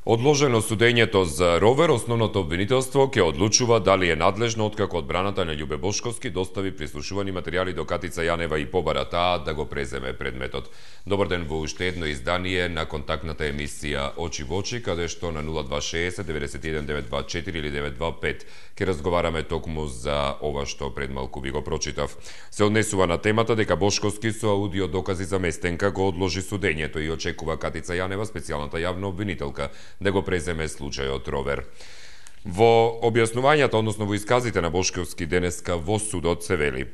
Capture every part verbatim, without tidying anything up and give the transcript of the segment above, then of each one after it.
Одложено судењето за Ровер, основното обвинителство ќе одлучува дали е надлежно откако одбраната на Љубе Бошковски достави прислушувани материјали до Катица Јанева и побара таа да го преземе предметот. Добар ден во уште едно издание на контактната емисија Очи во очи, каде што на нула два шеесет деветдесет и еден деветстотини и дваесет и четири или деветстотини и дваесет и пет ќе разговараме токму за ова што пред малку ви го прочитав. Се однесува на темата дека Бошковски со аудио докази за местенка го одложи судењето и очекува Катица Јанева, специјалната јавна обвинителка, да го преземе случајот Ровер. Во објаснувањата, односно во исказите на Бошковски денеска во судот се вели: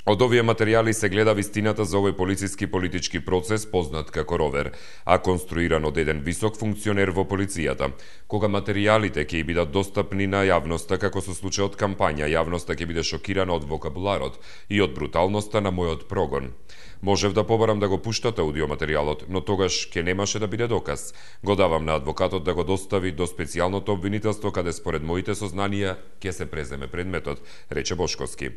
од овие материјали се гледа вистината за овој полициски политички процес познат како Ровер, а конструиран од еден висок функционер во полицијата. Кога материјалите ќе бидат достапни на јавноста, како со случајот кампања, јавноста ќе биде шокирана од вокабуларот и од бруталноста на мојот прогон. Можев да побарам да го пуштате аудиоматеријалот, но тогаш ќе немаше да биде доказ. Го давам на адвокатот да го достави до специјалното обвинителство, каде според моите сознанија ќе се преземе предметот, рече Бошковски.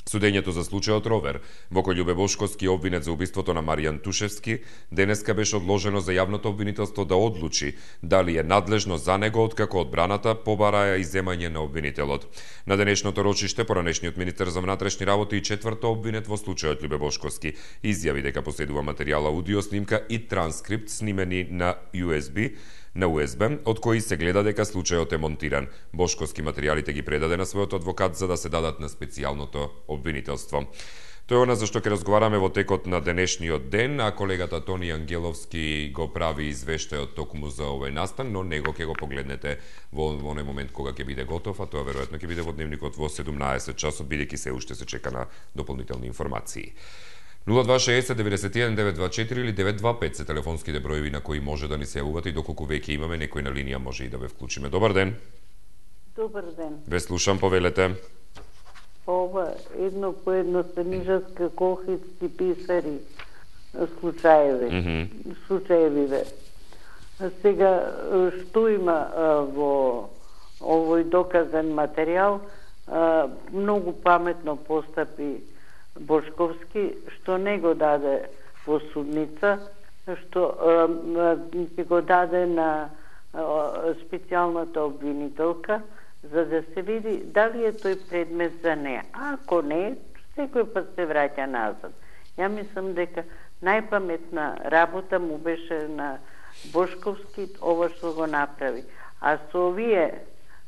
Судењето за случајот Ровер, во кој Љубе Бошковски обвинет за убиството на Маријан Тушевски, денеска беше одложено за јавното обвинителство да одлучи дали е надлежно за него откако одбраната побара иземање на обвинителот. На денешното рочиште поранешниот министер за внатрешни работи и четврто обвинет во случајот Љубе Бошковски изјави дека поседува материјал аудио снимка и транскрипт снимени на ю ес би на ю ес би, од кои се гледа дека случајот е монтиран. Бошковски материјалите ги предаде на својот адвокат за да се дадат на специјалното обвинителство. Тоа е она за што ќе разговараме во текот на денешниот ден, а колегата Тони Ангеловски го прави извештајот токму за овој настан, но него ќе го погледнете во оној момент кога ќе биде готов, а тоа веројатно ќе биде во дневникот во седумнаесет часот, бидејќи се уште се чека на дополнителни информации. нула два шеесет деветдесет и еден деветстотини и дваесет и четири или деветстотини и дваесет и пет се телефонските броеви на кои може да ни се јавувате и доколку веќе имаме некој на линија може и да ве вклучиме. Добар ден. Добар ден. Ве слушам, повелете. Ова едно по едно станижатска колхидски писари случаеви. Mm -hmm. Случаевиве. Сега што има а, во овој доказан материјал, а, многу паметно постапи Бошковски, што не го даде во судница, што ќе го даде на а, специјалната обвинителка, за да се види дали е тој предмет за неа. Ако не, секој пат се враќа назад. Ја мислам дека најпаметна работа му беше на Бошковски ова што го направи. А со овие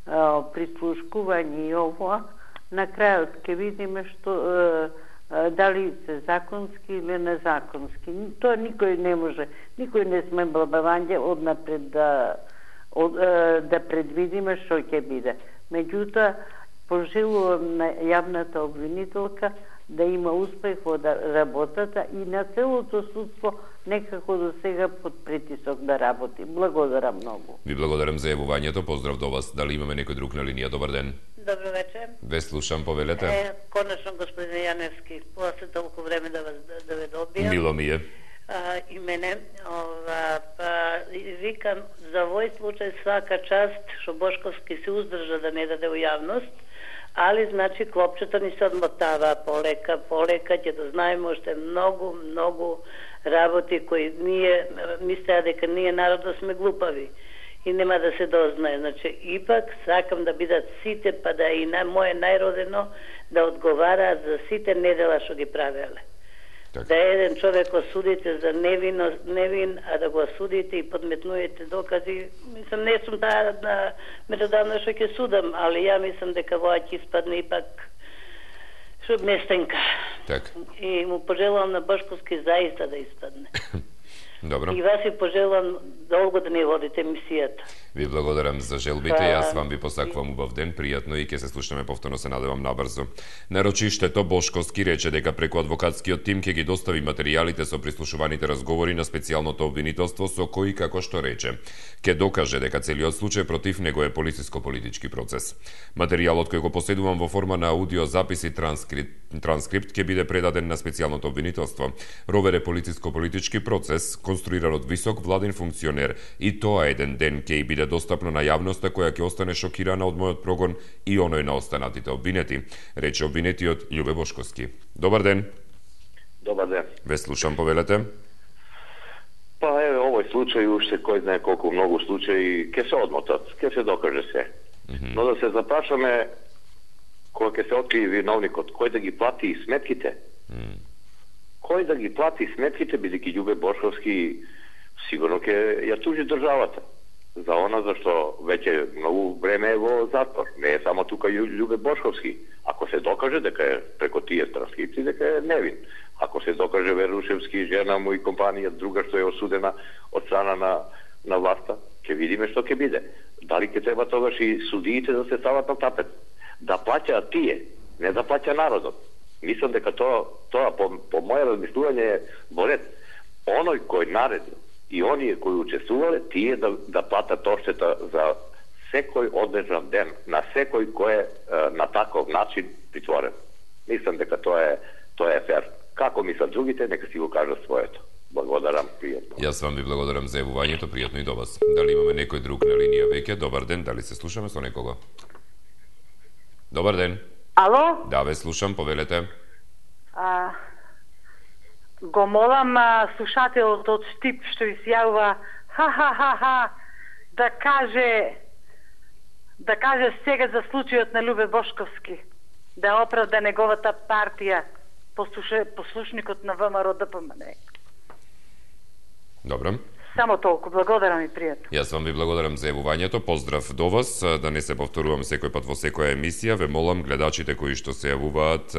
а, прислушкување и ова, на крајот ќе видиме што а, дали се законски или незаконски. Тоа никој не може, никој не сме бабавање однапред да, од, да предвидиме што ќе биде. Меѓутоа, пожелувам на јавната обвинителка да има успех во работата и на целото судство некако до сега под притисок да работи. Благодарам многу. Ви благодарам за јавувањето. Поздрав до вас. Дали имаме некој друг на линија? Добар ден. Добро вечер. Ве слушам, повелете. Е, конечно, господин Јаневски, после толку време да, вас, да, да ве добијам. Мило ми е. А, и мене, ова, па, викам, за овој случај свака част, што Бошковски се уздржа да не даде у јавност, али, значи, клопчето ни се одмотава полека, полека, ќе да знаеме уште многу, многу работи кои ние, мислеа дека ние народот сме глупави и нема да се дознае. Значи, ипак сакам да бидат сите, па да и на моје најродено да одговараат за сите недела што ги правеле. Так. Да еден човек осудите за невино, невин, а да го осудите и подметнуете докази. Мислам, не сум таа на меродавно што ќе судам, али ја мислам дека воа ќе испадне ипак што местенка. Так. И му пожелувам на Бошковски заиста да испадне. Добро. И вас ви пожелувам долго да ми водите емисијата. Ви благодарам за желбите, јас вам ви посакувам убав ден, пријатно и ќе се слушнеме повторно, се надевам набрзо. На рочиштето Бошковски рече дека преку адвокатскиот тим ќе ги достави материјалите со прислушуваните разговори на специјалното обвинителство со кои, како што рече, ќе докаже дека целиот случај против него е полициско-политички процес. Материјалот кој го поседувам во форма на аудио запис и транскрипт, транскрипт ќе биде предаден на специјалното обвинителство. Ровер е полициско-политички процес конструиран од висок владин функционер и тоа еден ден ќе биде достапно на јавноста која ќе остане шокирана од мојот прогон и оној на останатите обвинети, рече обвинетиот Љубе Бошковски. Добар ден. Добар ден. Ве слушам, повелете. Па еве овој случај уште кој знае колку многу случаи ќе се одмотат, ќе се докаже се. Mm-hmm. Но да се запрашаме кога ќе се открие виновникот, кој да ги плати сметките? Mm. Кој да ги плати сметките, бидејќи Љубе Бошковски сигурно ќе ја тужи државата за она зашто веќе многу време е во затвор. Не е само тука Љубе Бошковски. Ако се докаже дека е преку тие транскрипции дека е невин. Ако се докаже Верушевски, жена му и компанија друга што е осудена од страна на на власта, ќе видиме што ќе биде. Дали ќе треба тогаш и судиите да се стават на тапет? Да плаќаат тие, не да плаќа народот. Мислам дека тоа, тоа по, по моје размислување е во ред. Оној кој наредил и оние кои учествувале, тие да, да платат одштета за секој одлежан ден, на секој кој е на таков начин притворен. Мислам дека тоа е, тоа е фер. Како мислат другите, нека си го кажат своето. Благодарам, пријатно. Јас вам ви благодарам за јавувањето, пријатно и до вас. Дали имаме некој друг на линија веќе? Добар ден, дали се слушаме со некого? Добар ден. Ало? Да, ве слушам, повелете. А, го молам а, слушателот од Штип што ви се јавува ха-ха-ха-ха да каже да каже сега за случајот на Љубе Бошковски, да оправда неговата партија, послуше, послушникот на ВМРО Д П М Н. Добро. Само толку, благодарам и пријатно. Јас вам ви благодарам за јавувањето, поздрав до вас, да не се повторувам секој пат во секоја емисија, ве молам гледачите кои што се јавуваат,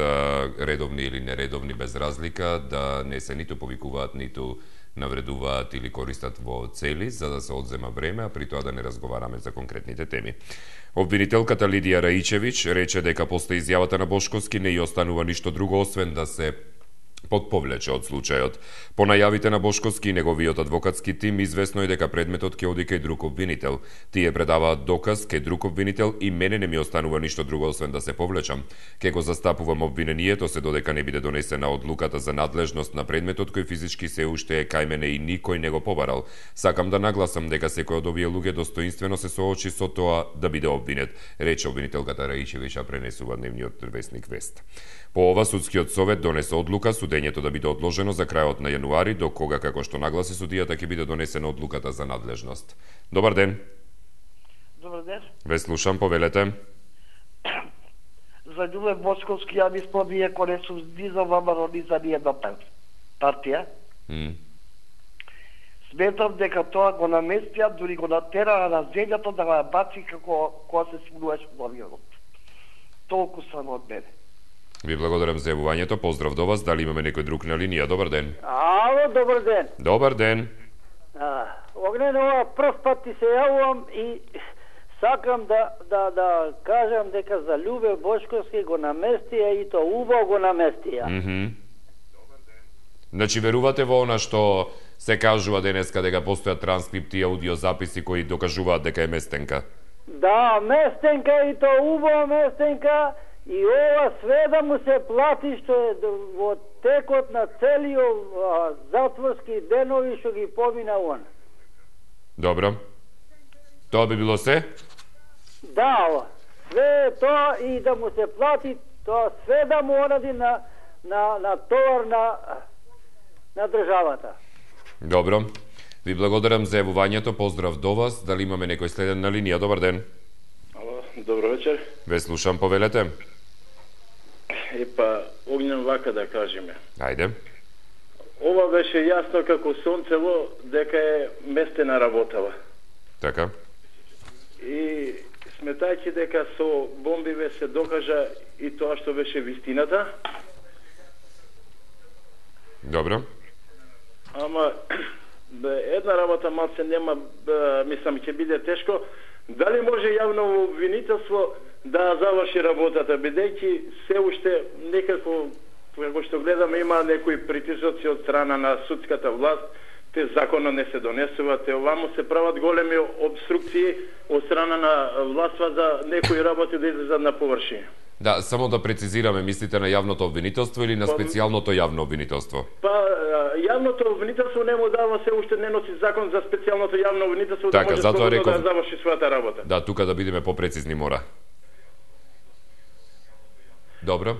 редовни или нередовни без разлика, да не се ниту повикуваат, ниту навредуваат или користат во цели, за да се одзема време, а при тоа да не разговараме за конкретните теми. Обвинителката Лидија Раичевиќ рече дека после изјавата на Бошковски не ја останува ништо друго освен да се подповлече од случајот. По најавите на Бошковски и неговиот адвокатски тим, известно е дека предметот ќе оди кај друг обвинител. Тие предаваат доказ кај друг обвинител и мене не ми останува ништо друго освен да се повлечам. Ке го застапувам обвинението се додека не биде донесена одлуката за надлежност на предметот кој физички се уште е кај мене и никој не го побарал. Сакам да нагласам дека секој од овие луѓе достоинствено се соочи со тоа да биде обвинет, рече обвинителката Раичевиќ, пренесува дневниот весник Вест. По ова судскиот совет донесе одлука судењето да биде одложено за крајот на јануари, до кога, како што нагласи судијата, ќе биде донесена одлуката за надлежност. Добар ден. Добар ден. Ве слушам, повелете. За Љубе Бошковски, ја мислам, иако не сум ни за ВМРО, ни за ниједна партија. Mm. Сметам дека тоа го наместија, дури го натера на земјата да ја баци како кога се смунуваш во авионот. Толку само од мене. Ви благодарам за јавувањето, поздрав до вас. Дали имаме некој друг на линија? Добар ден. Ало, добар ден. Добар ден. А, Огнен, ова прв пат ти се јавувам и сакам да, да, да кажам дека за Љубе Бошковски го наместија и то убаво го наместија. Mm -hmm. Значи, верувате во она што се кажува денеска дека постојат транскрипти и аудиозаписи кои докажуваат дека е местенка? Да, местенка и то убаво местенка. И ова све да му се плати што е во текот на целиот затворски денови што ги помина он. Добро. Тоа би било се? Да, све тоа и да му се плати тоа све да му онади на, на, на товар на, на државата. Добро. Ви благодарам за јавувањето, поздрав до вас. Дали имаме некој следен на линија? Добар ден. Ало, добро вечер. Ве слушам, повелете. Епа, Огнен, вака да кажеме. Ајде. Ова беше јасно како сонцево дека е местена работава. Така. И сметајќи дека со бомбиве се докажа и тоа што беше вистината. Добро. Ама една работа малце нема, мислам, ќе биде тешко. Дали може јавно обвинителство да заврши работата, бидејќи се уште некако, како што гледаме, има некои притисоци од страна на судската власт, те законно не се донесуваат, те овамо се прават големи обструкции од страна на властва за некои работи да излезат на површина. Да, само да прецизираме, мислите на јавното обвинителство или на специјалното јавно обвинителство? Па, јавното обвинителство не му дава, се уште не носи закон за специјалното јавно обвинителство, така, да може затоа реков... реков... да заврши својата работа. Да, тука да бидеме попрецизни мора. Добро.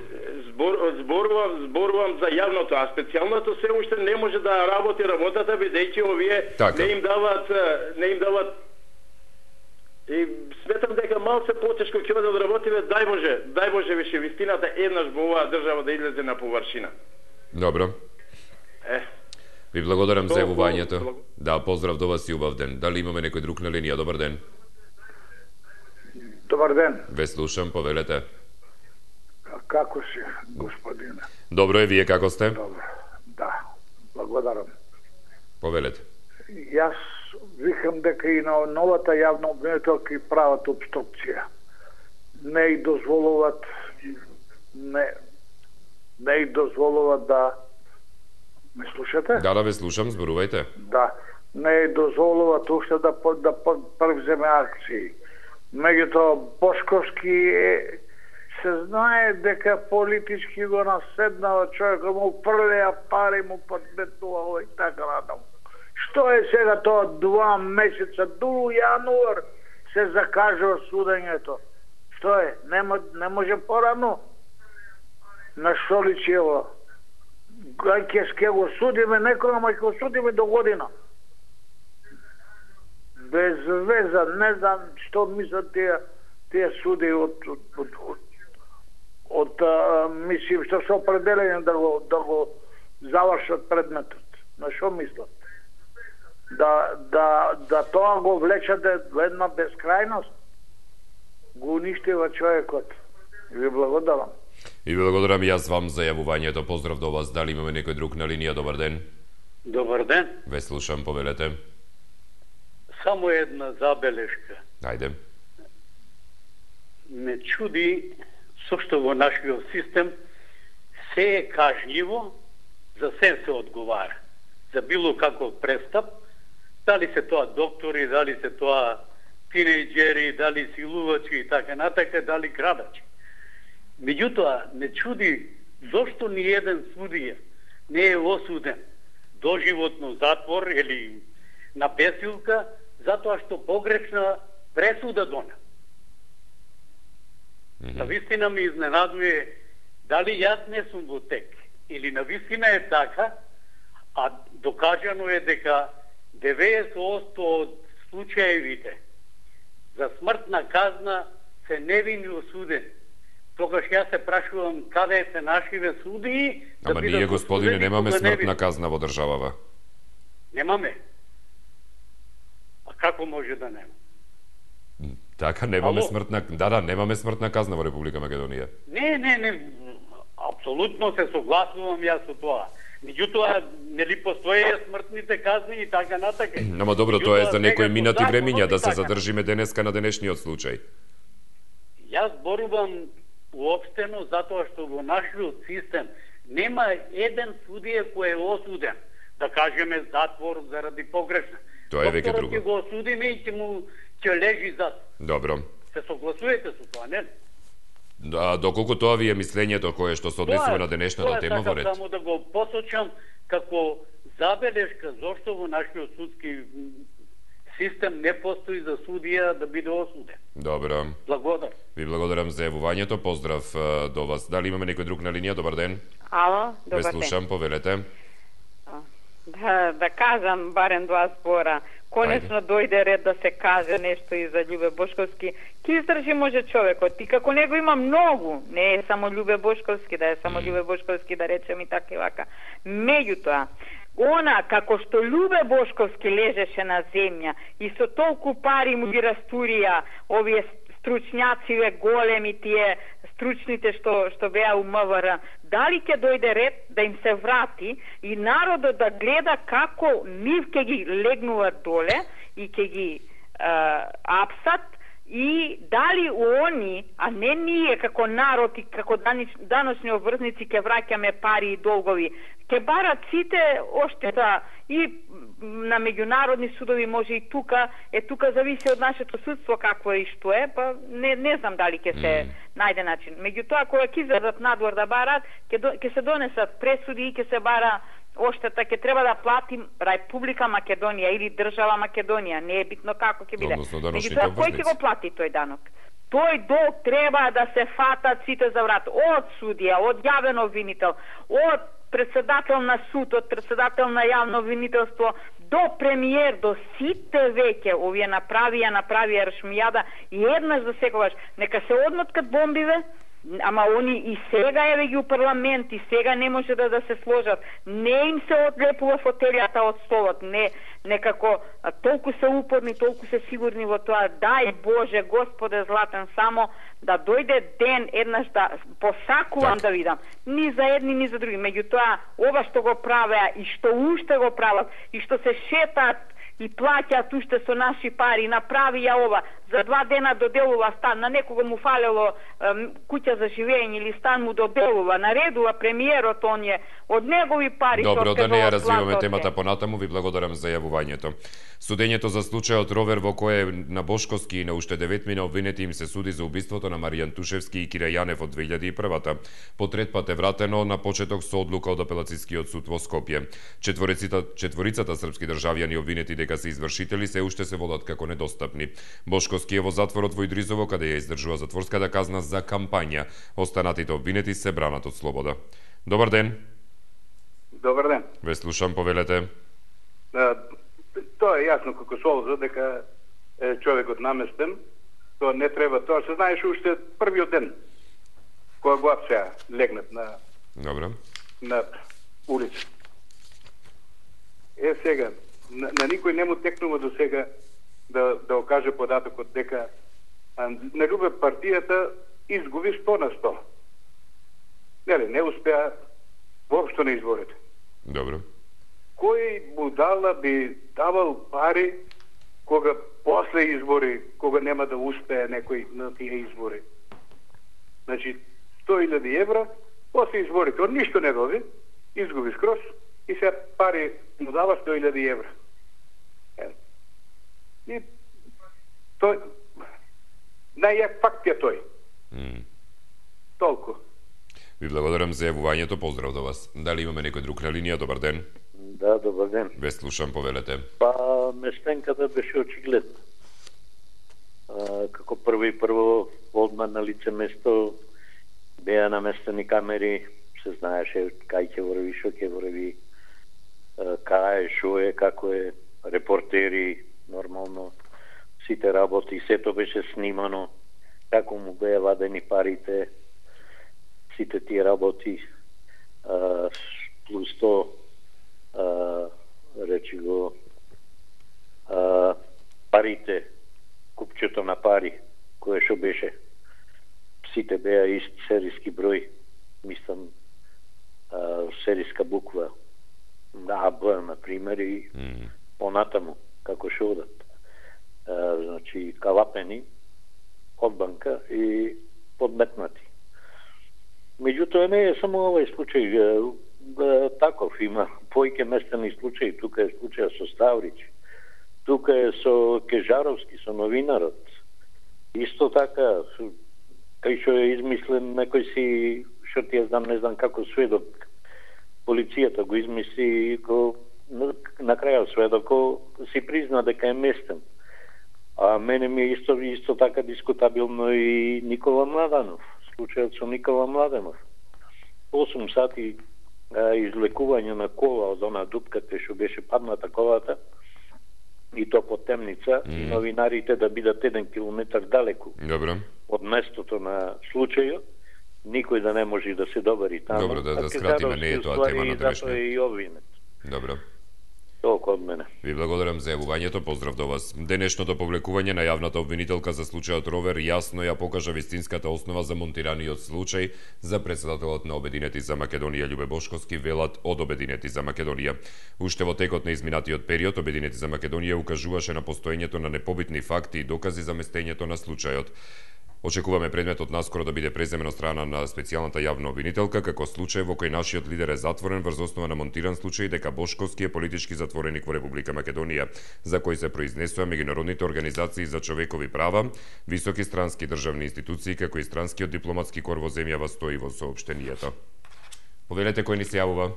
збор, зборувам, зборувам за јавното, а специјалното се уште не може да работи работата бидејќи овие така. не им дават не им дават и сметам дека малце потешко ќе биде да работиме, дај Боже, дај Боже више вистината еднаш во оваа држава да излезе на површина. Добро. Е. Ви благодарам за јавувањето. Да, поздрав до вас и убав ден. Дали имаме некој друг на линија? Добар ден. Добар ден. Ве слушам, повелете. Како си, господине? Добро е, вие како сте? Добро, да, благодарам. Повелете. Јас викам дека и на новата јавна обвинителка и прават обструкција. Не и дозволуват не, не и дозволуват да ме слушате? Да, да, ве слушам, зборувајте. Да, не и дозволуват уште да, да превземе акции. Меѓутоа, Бошковски е, се знае дека политички го наседнава човека, му фрлеа пари, му подметнува и така надам. Што е сега тоа два месеца, до јануар се закажува судењето? Што е? Нема, не може порано? На што личи ево? Ке ке го судиме некој, ама ќе го судиме до година. Без веза, не знам што мислат тие, тие суди од, од, од, од, од а, мислим што се определени да го, да го завршат предметот. На што мислат? Да, да, да тоа го влечате во една безкрајност, го уништива човекот. И ви благодарам. И ви благодарам јас вам за јавувањето. Поздрав до вас. Дали имаме некој друг на линија? Добар ден. Добар ден. Ве слушам, повелете. Само една забелешка. Ајде. Ме чуди со што во нашиот систем се е кажњиво, за се се одговара. За било каков престап, дали се тоа доктори, дали се тоа тинејџери, дали силувачи и така натака, дали крадачи. Меѓутоа, ме чуди зошто ни еден судија не е осуден доживотно затвор или на бесилка, затоа што погрешна пресуда дона. Mm-hmm. На вистина ми изненадува дали јас не сум во тек или на вистина е така, а докажано е дека деветдесет одсто од случаевите за смртна казна се невини осудени. Тогаш јас се прашувам каде се нашиве судии. Ама да ние, господине, немаме смртна казна во државава. Немаме. А како може да нема? Така, немаме Ало? смртна... Да, да, немаме смртна казна во Република Македонија. Не, не, не. Апсолутно се согласувам јас со тоа. Меѓутоа, нели постоje смртните казни и така натака. Ама добро, тоа е за некои минати законот времиња, да се така. задржиме денеска на денешниот случај. Јас зборувам уопштено затоа што во нашиот систем нема еден судија кој е осуден, да кажеме затвор заради погрешна. Тоа е веќе друго. Докторот ќе го осудиме и ќе му ќе лежи зад. Добро. Се согласувате со тоа, не? Да, доколку тоа ви е мислењето кое што се однесува на денешната тема во ред. Тоа само да го посочам како забелешка зошто во нашиот судски систем не постои за судија да биде осуден. Добро. Благодарам. Ви благодарам за јавувањето. Поздрав е, до вас. Дали имаме некој друг на линија? Добар ден. Ало, добар Ве ден. слушам, повелете. Да, да кажам барем два збора. Конечно Ајде. Дојде ред да се каже нешто и за Љубе Бошковски. Ки издржи може човекот. И како него има многу, не е само Љубе Бошковски, да е само mm. Љубе Бошковски, да речем и така и вака. Меѓутоа, она како што Љубе Бошковски лежеше на земја и со толку пари му ги растурија овие стручњациве големи, тие стручните што што беа у МВР, дали ќе дојде ред да им се врати и народот да гледа како нив ќе ги легнуваат доле и ќе ги е, апсат и дали они, а не ние како народ и како даночни обврзници ќе враќаме пари и долгови, ќе барат сите оштета и на меѓународни судови, може и тука, е тука зависи од нашето судство какво е и што е, па не, не знам дали ќе се mm. најде начин. Меѓутоа, кога ќе излезат надвор да барат, ќе се донесат пресуди и ќе се бара оштета, ќе треба да плати Република Македонија или држава Македонија, не е битно како ќе биде. Меѓутоа, кој ќе го плати тој данок? тој долг треба да се фатат сите за врат. Од судија, од јавен обвинител, од председател на суд, од председател на јавно обвинителство, до премиер, до сите веќе, овие направија, направија ршмијада, и еднаш за секогаш, нека се одмоткат бомбиве, ама они и сега еве ги у парламент, и сега не може да, да се сложат. Не им се одлепува фотелјата од столот, не, некако а, толку се упорни, толку се сигурни во тоа. Дај Боже, Господе златен, само да дојде ден еднаш да посакувам так. Да видам. Ни за едни, ни за други. Меѓутоа, ова што го правеа и што уште го прават, и што се шетаат и плаќаат уште со наши пари, направија ова, за два дена доделува стан, на некого му фалело ем, куќа за живење или стан му доделува, наредува премиерот оние, од негови пари. Добро, да не ја развиваме темата понатаму, ви благодарам за јавувањето. Судењето за случајот Ровер во кој на Бошковски и на уште деветмина обвинети им се суди за убиството на Маријан Тушевски и Кира Јанев од две илјади и прва. По трет пат е вратено на почеток со одлука од апелацискиот суд во Скопје. Четворицата, четворицата српски државјани обвинети дека се извршители се уште се водат како недостапни. Бошковски е во затворот во Идризово, каде ја издржува затворската казна за кампања. Останатите обвинети се бранат од слобода. Добар ден. Добар ден. Ве слушам, повелете. Да, тоа е јасно како солза дека е човекот наместен. Тоа не треба, тоа се знаеше уште првиот ден кога го апсеа легнат на Добро. на улица. Е сега на, на никој не му текнува до сега да да окаже податокот дека а, на Љубе партијата изгуби сто на сто. Нели, не успеа воопшто на изборите. Добро. Кој будала би давал пари кога после избори, кога нема да успее некој на тие избори? Значи, сто илјади евра, после изборите, од ништо не доби, изгуби скроз, и сега пари му дава сто илјади евра. Е. И тој, најјак факт е тој. Mm. Толку. Ви благодарам за јавувањето, поздрав до вас. Дали имаме некој друг на линија? Добар ден. Да, добар ден. Ве слушам, повелете. Па, местенката беше очигледна. А, како прво и прво, одма на лице место беа наместени камери, се знаеше кај ќе врви, шо ќе врви, кај е, шо е, како е, репортери, нормално, сите работи, сето беше снимано, како му беа вадени парите, сите тие работи, а, плюс то, а, речи го, а, парите, купчето на пари, кое шо беше, сите беа ист серијски број, мислам, а, серијска буква, на А Б, например, и mm. понатаму, како шо одат. А, значи, калапени од банка и подметнати. Меѓутоа не е само овој случај, а, таков има поиќе местени случаи, тука е случај со Ставрич, тука е со Кежаровски, со новинарот. Исто така, кај што е измислен некој си, што ти ја знам, не знам како сведок, полицијата го измисли, го, на крајот сведоко си призна дека е местен. А мене ми е исто, исто така дискутабилно и Никола Младенов, случајот со Никола Младенов. осум сати а, излекување на кола од она дупка кај што беше падната колата, и то по темница, mm. и новинарите да бидат еден километар далеку. Добро. Од местото на случајот, никој да не може да се добари таму. Добро, да, да скратиме, не е тоа тема на денешниот. И обвинет. Добро. Толку од мене. Ви благодарам за јавувањето, поздрав до вас. Денешното повлекување на јавната обвинителка за случајот Ровер јасно ја покажа вистинската основа за монтираниот случај за председателот на Обединети за Македонија Љубе Бошковски, велат од Обединети за Македонија. Уште во текот на изминатиот период, Обединети за Македонија укажуваше на постоењето на непобитни факти и докази за местењето на случајот. Очекуваме предметот наскоро да биде преземен од страна на специјалната јавна обвинителка, како случај во кој нашиот лидер е затворен врз основа на монтиран случај дека Бошковски е политички затвореник во Република Македонија, за кој се произнесува меѓународните организации за човекови права, високи странски државни институции, како и странскиот дипломатски кор во земјава, стои во соопштенијето. Повелете, кој ни се јавува?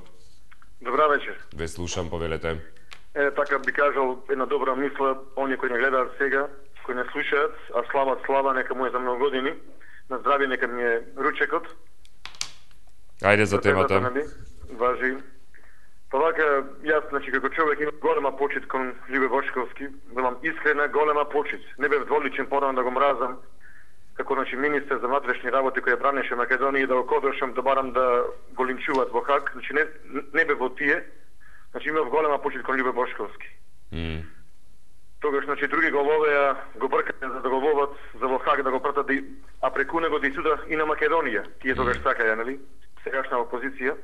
Добра вечер. Ве слушам, повелете. Е, така би кажал една добра мисла, оние кои не гледаат сега, кои не слушаат, а слава слава нека му е за многу години. На здравје нека ми е ручекот. Ајде за темата. Нали, важи. Па вака, јас, значи, како човек имам голема почит кон Љубе Бошковски, велам искрена голема почит. Не бев дволичен порано да го мразам, како, значи, министер за внатрешни работи кој бранеше Македонија, да го кодошам, да барам да го линчуваат во Хаг, значи, не, не бев во тие, значи, имав голема почит кон Љубе Бошковски. Mm. Тогаш, значи, други го ловеа, го бркаат за да го ловат, за во Хаг да го пратат, да, а преку него да и суда и на Македонија. Тие тогаш mm. сакаја, нали? Сегашна опозиција.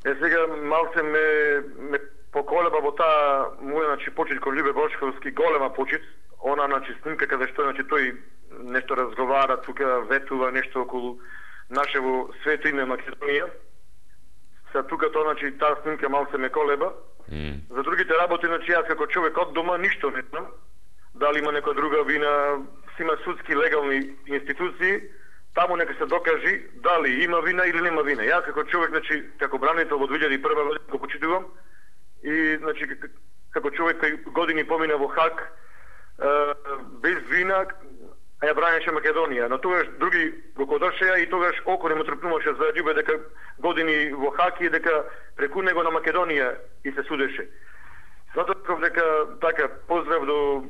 Е, сега малце ме, ме поколеба во таа моја, значи, почит кон Љубе Бошковски, голема почит. Она, значи, снимка каде што, значи, тој нешто разговара, тука ветува нешто околу нашево свето име Македонија. Са тука тоа, значи, таа снимка малце ме колеба. Mm. За другите работи, значи, јас како човек од дома ништо не знам. Дали има некоја друга вина, си има судски легални институции, таму нека се докажи дали има вина или нема вина. Јас како човек, значи, како бранител во две илјади и прва година го почитувам и, значи, како човек кој години помина во Хаг без вина, а ја бранеше Македонија. Но тогаш други го кодошеа и тогаш око не му трпнуваше за Љубе дека години во Хаг и дека преку него на Македонија и се судеше. Затоа дека така поздрав до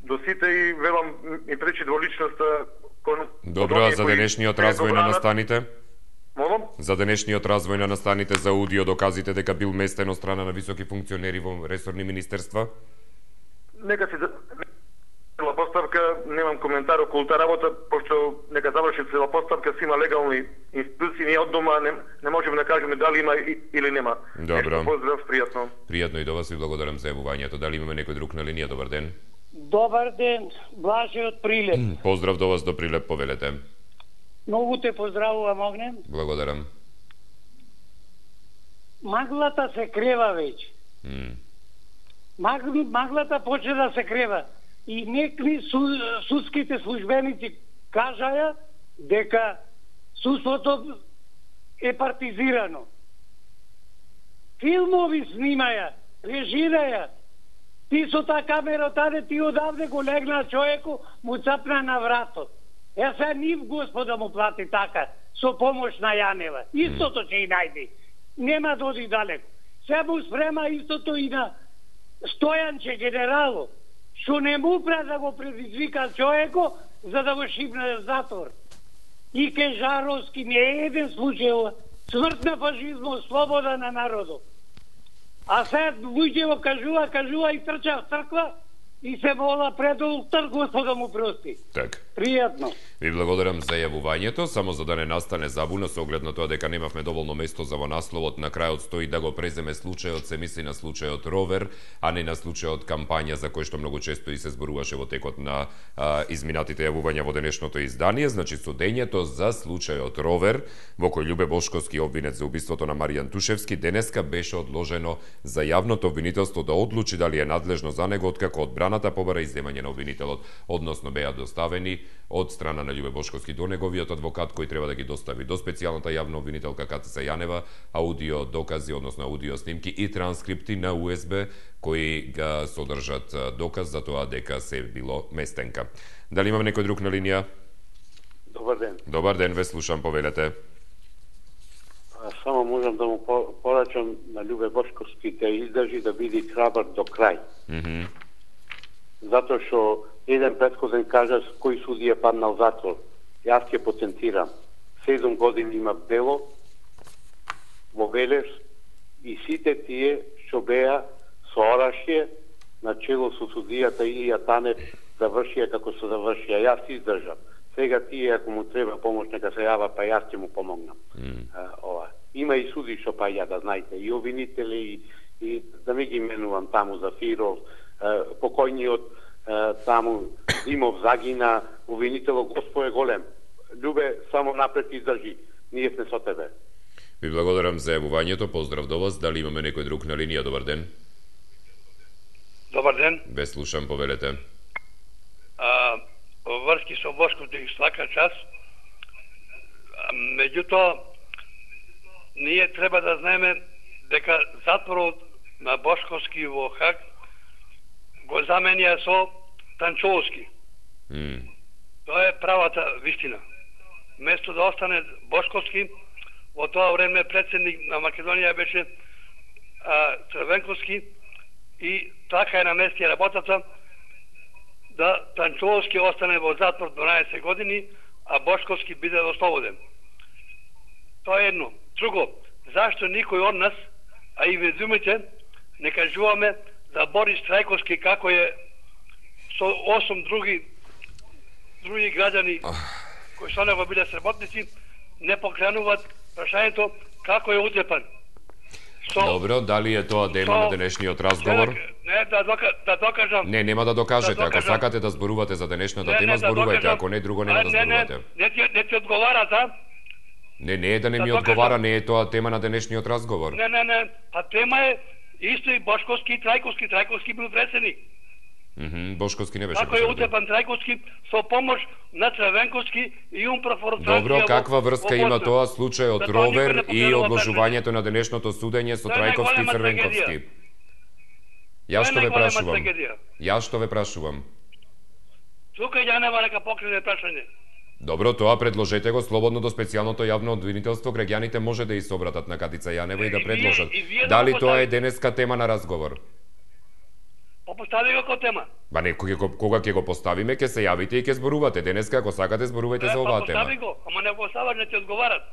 до сите и велам и пречи дволичноста кон. Добро, за денешниот развој на настаните? Молам? За денешниот развој на настаните за аудио доказите дека бил местен од страна на високи функционери во ресорни министерства? Нека си цела поставка, немам коментар околу таа работа, пошто нека заврши цела поставка, си има легални институции, ние од дома не, не можеме да кажеме дали има или нема. Добро. Поздрав, пријатно. Пријатно и до вас, ви благодарам за јавувањето. Дали имаме некој друг на линија? Добар ден. Добар ден, Блаже од Прилеп. Поздрав до вас до Прилеп, повелете. Многу те поздравувам, Огнен. Благодарам. Маглата се крева веќе. Mm. Маг, маглата почне да се крева. И некви су, судските службеници кажаја дека судството е партизирано. Филмови снимаја, режираја. Ти со таа камера таде, ти одавде го легна човеку, му цапна на вратот. Е се нив Господа му плати така, со помош на Јанева. Истото ќе и најди. Нема да оди далеко. Се му спрема истото и на Стојанче генерало, што не му пре да го предизвика човеко, за да го шибне в затвор. И Кежаровски не е еден случај, смрт на фашизмот, слобода на народот. А сега луѓе го кажува, кажува и трча в црква и се мола пред олтар, Господа му прости. Так. Пријатно. Ви благодарам за јавувањето, само за да не настане забуна со оглед на тоа дека немавме доволно место за во насловот, на крајот стои да го преземе случајот, се мисли на случајот Ровер, а не на случајот кампања за кој што многу често и се зборуваше во текот на а, изминатите јавувања во денешното издание. Значи судењето за случајот Ровер, во кој Љубе Бошковски обвинет за убиството на Маријан Тушевски, денеска беше одложено за јавното обвинителство да одлучи дали е надлежно за него, откако одбраната побара издемање на обвинителот, односно беа доставени од страна на Љубе Бошковски до неговиот адвокат кој треба да ги достави до специјалната јавна обвинителка Катица Јанева аудио докази, односно аудио снимки и транскрипти на У Ес Б кои га содржат доказ за тоа дека се било местенка. Дали имаме некој друг на линија? Добар ден. Добар ден, ве слушам, повелете. Само можам да му порачам на Љубе Бошковски да издржи, да биде храбар до крај. Mm -hmm. Затоа што еден претходен кажа кој судија паднал затвор. Јас ќе потенцирам. седум години има дело во Велес и сите тие што беа со орашје на чело со судијата Илија Танев завршија како се завршија. Јас издржам. Сега тие ако му треба помош нека се јава, па јас ќе му помогнам. Mm. А, ова. Има и суди што па ја да знаете, и обвинители и, и да ми ги менувам таму за Фиров, покојниот таму Димов загина, обвинителот Господ е голем. Љубе, само напред издржи. Ние сме со тебе. Ви благодарам за јавувањето. Поздрав до вас. Дали имаме некој друг на линија? Добар ден. Добар ден. Ве слушам, повелете. А, врски со Бошковски свака час. Меѓутоа, ние треба да знаеме дека затворот на Бошковски во Хаг го заменија со Танчовски. Mm. Тоа е правата вистина. Место да остане Бошковски, во тоа време председник на Македонија беше а, Црвенковски и така е наместија работата да Танчовски остане во затвор дванаесет години, а Бошковски биде ослободен. Тоа е едно. Друго, зашто никој од нас, а и ведумите, не кажуваме за Борис Трајковски како е со осум други други граѓани кои со него биле сработници, не покренуваат прашањето како е утепан. Со... Добро, дали е тоа тема со... на денешниот разговор? Не, не да, дока, да докажам. Не, нема да докажете. Да докажам. Ако сакате да зборувате за денешната не, тема, не, зборувајте. Да, ако не, друго нема а, да зборувате. Не, не, не, не ти одговара, да? Не, не е да не да ми докажам. Одговара, не е тоа тема на денешниот разговор. Не, не, не. А тема е исто и Бошковски и Трајковски. Трајковски бил председник. Мхм, mm-hmm. Бошковски не беше. Како е утепан Трајковски со помош на Црвенковски и умпрофорцација. Добро, каква врска има тоа случај од да Ровер и одложувањето на денешното судење со Трајковски и Црвенковски? Јас што ве прашувам? Јас што ве прашувам? Тука ја нема нека покрене прашање. Добро, тоа предложете го слободно до специјалното јавно обвинителство. Граѓаните може да и се обратат на Катица Јанева и да предложат. И вие, и дали тоа е денеска тема на разговор? Па постави го ко тема. Ба не, кога ќе го поставиме, ќе се јавите и ќе зборувате. Денеска, ако сакате, зборувајте е, за оваа па, тема. Постави го, ама не го поставаш, не ти одговарат.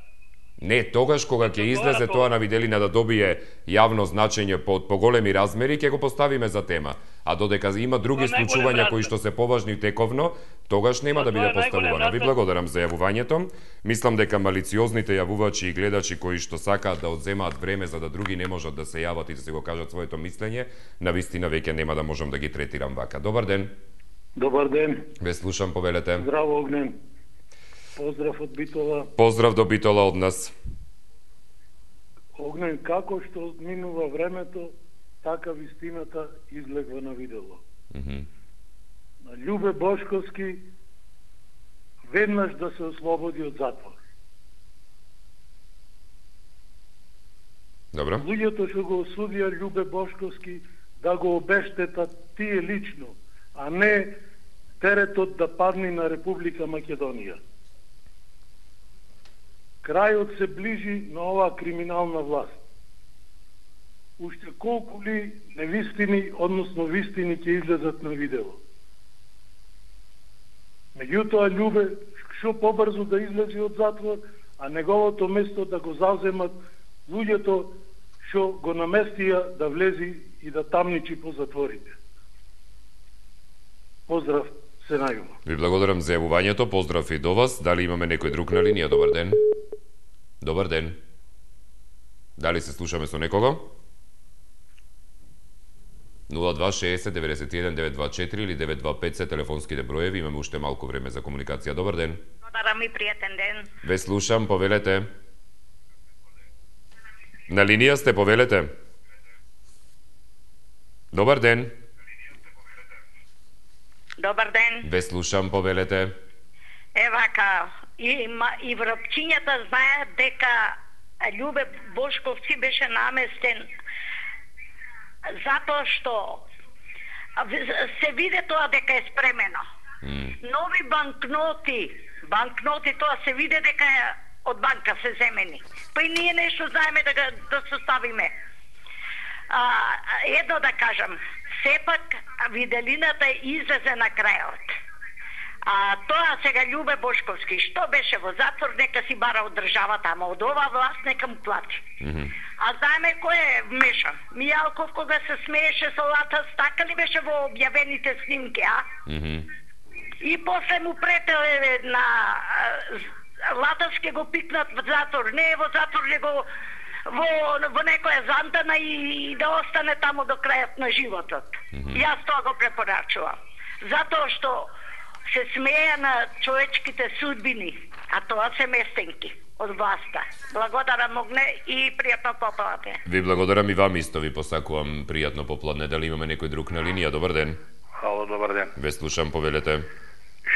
Не, тогаш кога ќе излезе тоа на виделина да добие јавно значење по поголеми размери, ќе го поставиме за тема. А додека има други случувања кои што се поважни тековно, тогаш нема да биде поставувано. Ви благодарам за јавувањето. Мислам дека малициозните јавувачи и гледачи кои што сакаат да одземаат време за да други не можат да се јават и да се го кажат своето мислење, навистина веќе нема да можам да ги третирам вака. Добар ден. Добар ден. Ве слушам, повелете. Здраво, Огнен. Поздрав од Битола. Поздрав до Битола од нас. Огнен, како што минува времето, така вистината излегва на видело. Mm -hmm. На Љубе Бошковски веднаш да се ослободи од затвор. Добро. Луѓето што го осудија Љубе Бошковски да го обештетат тие лично, а не теретот да падне на Република Македонија. Крајот се ближи на оваа криминална власт. Уште колку ли невистини, односно вистини ќе излезат на видео. Меѓутоа, Љубе што побрзо да излезе од затвор, а неговото место да го зауземат луѓето што го наместија да влези и да тамничи по затворите. Поздрав, се најума. Ви благодарам за јавувањето, поздрав и до вас. Дали имаме некој друг на линија? Добар ден. Добар ден. Дали се слушаме со некого? нула два шеесет деветдесет и еден девет два четири или девет два пет се телефонските броеви. Имаме уште малку време за комуникација. Добар ден. Добар ми пријатен ден. Ве слушам, повелете. На линија сте, повелете. Добар ден. Добар ден. Ве слушам, повелете. Евака, и, и врапчињата знаат дека Љубе Бошковски беше наместен затоа што се виде тоа дека е спремено. Mm. Нови банкноти, банкноти тоа се виде дека е од банка се земени. Па и ние нешто знаеме да, да составиме. А, едно да кажам, сепак виделината излезе на крајот. А тоа сега Љубе Бошковски, што беше во затвор, нека си бара од државата, ама од оваа власт нека му плати. Mm -hmm. А знаеме кој е вмешан? Мијалков кога се смееше со Латас, така ли беше во објавените снимки, а? Mm -hmm. И после му претеле на Латас ке го пикнат во затвор. Не е во затвор, него во, во некоја зантана и, и да остане таму до крајот на животот. Mm -hmm. Јас тоа го препорачувам. Затоа што се смеја на човечките судбини, а тоа се местенки од власта. Благодарам, Огне, и пријатно попладне. Ви благодарам и вам исто, ви посакувам пријатно попладне. Дали имаме некој друг на линија? Добар ден. Хало, добар ден. Ве слушам, повелете.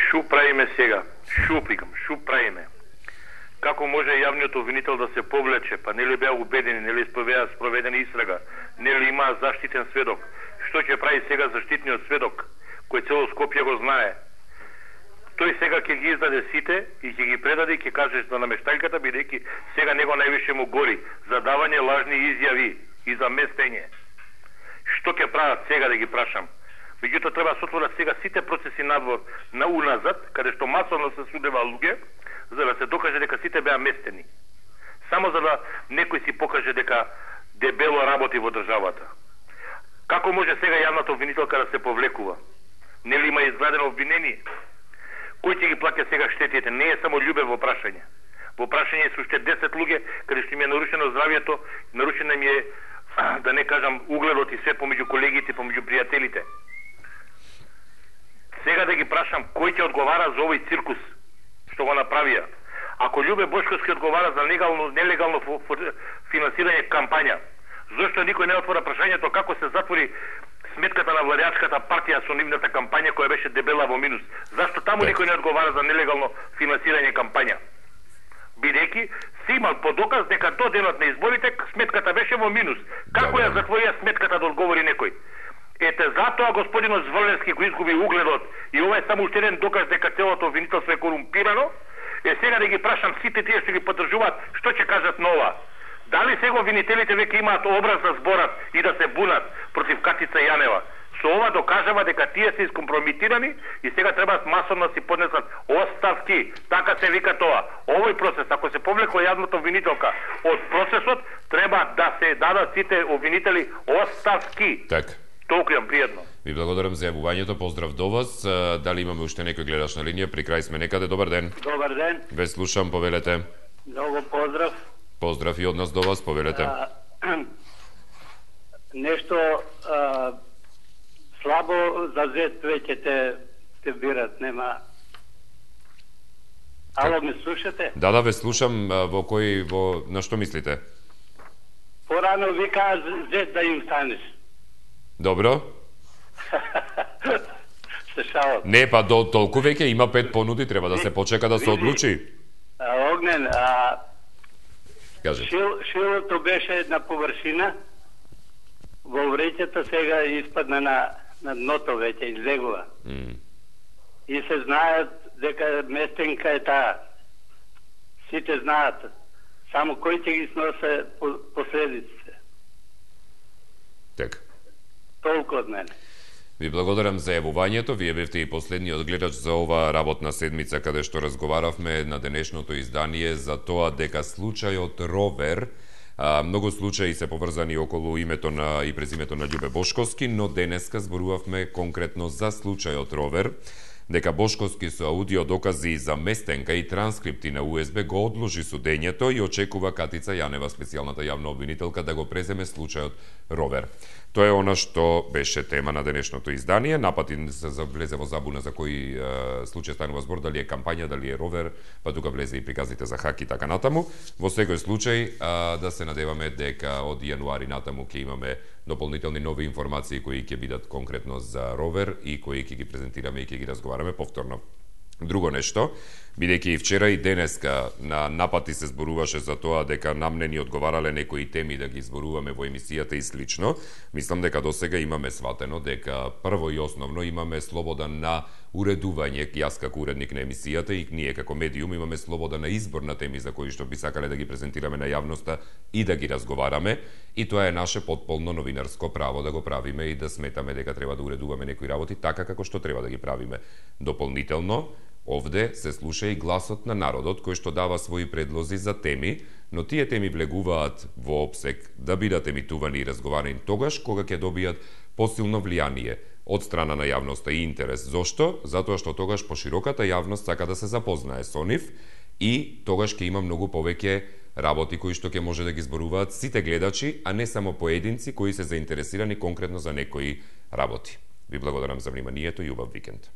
Шу правиме сега? Шу прикам, шу правиме? Како може јавниот обвинител да се повлече? Па нели беа убедени, нели спровеа спроведена истрага, нели имаа заштитен сведок? Што ќе прави сега заштитниот сведок, кој цело Скопје го знае. Тој сега ќе ги издаде сите и ќе ги предаде и ќе каже за намештајката, бидејќи сега него највише му гори за давање лажни изјави и за местење. Што ќе прават сега да ги прашам? Меѓутоа треба да отворат сега сите процеси надвор на уназад, каде што масовно се судева луѓе, за да се докаже дека сите беа местени. Само за да некој си покаже дека дебело работи во државата. Како може сега јавната обвинителка да се повлекува? Нели има изградено обвинение? Кој ќе ги плаќа сега штетите? Не е само Љубе во прашање. Во прашање се уште десет луѓе, каде што им е нарушено здравјето, нарушено им е, да не кажам, угледот и се помеѓу колегите, помеѓу пријателите. Сега да ги прашам, кој ќе одговара за овој циркус што го направија? Ако Љубе Бошковски одговара за легално, нелегално финансирање кампања, зошто никој не отвора прашањето како се затвори сметката на владеачката партија со нивната кампања која беше дебела во минус? Зашто таму никој не одговара за нелегално финансирање кампања? Бидејќи се има по доказ дека до денот на изборите сметката беше во минус. Како ја затворија сметката да одговори некој? Ете затоа господинот Зврленски го изгуби угледот и ова е само уште еден доказ дека целото обвинителство е корумпирано. Е сега да ги прашам сите тие што ги поддржуваат, што ќе кажат на ова? Дали сега обвинителите веќе имаат образ да зборат и да се бунат против Катица Јанева? Со ова докажава дека тие се искомпромитирани и сега треба масовно да си поднесат оставки. Така се вика тоа. Овој процес, ако се повлекла јавната обвинителка од процесот, треба да се дадат сите обвинители оставки. Така. Толку јам пријатно. Ви благодарам за јавувањето, поздрав до вас. Дали имаме уште некој гледач на линија? При крај сме некаде. Добар ден. Добар ден. Ве слушам, повелете. Многу поздрав. Поздрав и од нас до вас, повелете. А, нешто а, слабо за зет веќе те, те бират, нема. Ало, ме слушате? Да, да, ве слушам. Во кој, во, на што мислите? Порано вика зет да им станеш. Добро. Се шалам. Не, па до толку веќе има пет понуди, треба да се почека да се одлучи. А, Огнен, а Кажете. Шил, шилото беше на површина, во вреќата сега испадна на, на дното веќе, излегува. Mm. И се знаат дека местенка е таа. Сите знаат. Само кој ќе ги сносе последиците. Така. Толку од мене. Ви благодарам за јавувањето. Вие бевте и последниот гледач за ова работна седмица каде што разговаравме на денешното издание за тоа дека случајот Ровер, а, многу случаи се поврзани околу името на и презимето на Љубе Бошковски, но денеска зборувавме конкретно за случајот Ровер, дека Бошковски со аудио докази за местенка и транскрипти на У С Б го одложи судењето и очекува Катица Јанева, специјалната јавна обвинителка, да го преземе случајот Ровер. Тоа е она што беше тема на денешното издание. Напати се влезе во забуна за кој е, случај станува збор, дали е кампања, дали е Ровер, па тука влезе и приказите за хак и така натаму. Во секој случај, а, да се надеваме дека од јануари натаму ќе имаме дополнителни нови информации кои ќе бидат конкретно за Ровер и кои ќе ги презентираме и ќе ги разговараме повторно. Друго нешто, бидејќи и вчера и денеска на напати се зборуваше за тоа дека нам не ни одговарале некои теми да ги зборуваме во емисијата и слично, мислам дека досега имаме сватено дека прво и основно имаме слобода на уредување, јас како уредник на емисијата и ние како медиум имаме слобода на избор на теми за кои што би сакале да ги презентираме на јавноста и да ги разговараме, и тоа е наше потполно новинарско право да го правиме и да сметаме дека треба да уредуваме некои работи така како што треба да ги правиме. Дополнително, овде се слуша и гласот на народот кој што дава своји предлози за теми, но тие теми влегуваат во опсек да бидат емитувани и разговарани тогаш кога ќе добијат посилно влијание од страна на јавноста и интерес. Зошто? Затоа што тогаш пошироката јавност сака да се запознае со нив и тогаш ќе има многу повеќе работи кои што ќе може да ги зборуваат сите гледачи, а не само поединци кои се заинтересирани конкретно за некои работи. Ви благодарам за вниманието и убав викенд.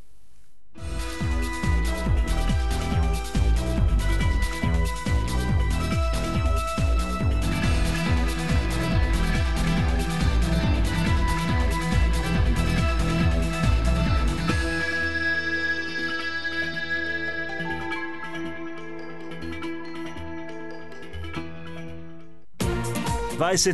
дваесет